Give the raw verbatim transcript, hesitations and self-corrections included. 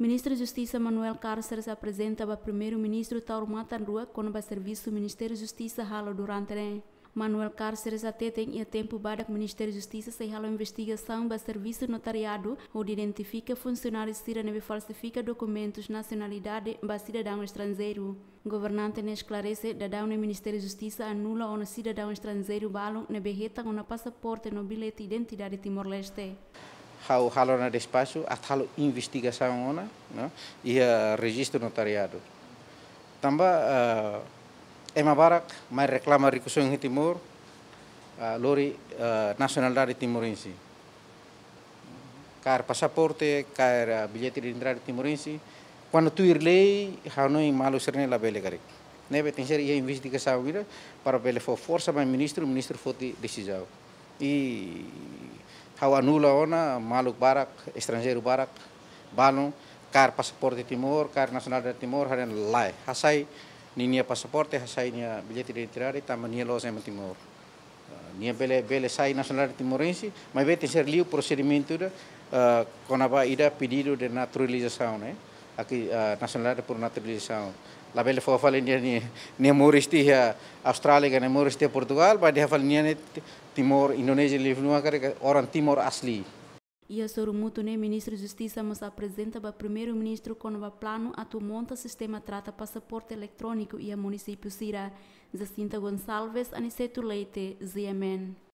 Ministru Justisa Manuel Cárceres aprezenta ba Primeiru-Ministru taur matan-rua kona-ba servisu Ministériu Justisa halo durante ne'e. Manuel Cárceres hateten iha tempu badak Ministériu Justisa sei halo investigasaun ba servisu notariadu, hodi identifika funsionáriu sira ne'ebé falsifika dokumentus nasionalidade ba sidadaun estranjeiru. Governante ne'e esklarese, daudaun ne'e Ministériu Justisa anula ona sidadaun estranjeiru balun ne'ebé hetan ona pasaporte no billete identidade Timor-Leste. Ha'u halo ona despaxu, atu halo investigasaun ona, no, iha rejistu notariadu. Tanba, eh, ema barak mai reklama rikusoin iha Timor, eh, lori, eh, nasionalidade timorense. Kaer pasaporte, kaer, eh, billete de entrada timorense. Kuandu tuir lei, hanoin maluk sira-ne'e labele karik. Ne'ebé tenke iha investigasaun ida para bele fó forsa ba ministru, ministru foti desizaun. I ha'u anula ona maluk barak, estranjeiru barak, balun, kaer pasaporte Timor, kaer nasionalidade Timor, haree lae. Hasai ninia pasaporte, hasai nia billete de entrada, tanba nia la'ós ema Timor. Ah, nia bele, bele sai nasionalidade timorense, maibé tenke ser liu prosedimentu ida, ah, kona-ba ida pedidu de naturalizasaun, ne'e. Aki, ah, nasionalidade por naturalizasaun. Labele fó fali nia, nia, nia moris iha Austrália, ka nia moris iha Portugal, ba dehan fali nia ne'e Ti-, Timor, Indonézia, liu fali mak karik orang Timor asli. Iha sorumutu ne'e Ministru Justisa mós aprezenta ba Primeiru-Ministru kona-ba planu atu monta sistema trata pasaporte eletróniku iha munisípiu sira. Jacinta Gonçalves, Aniceto Leite, G M N.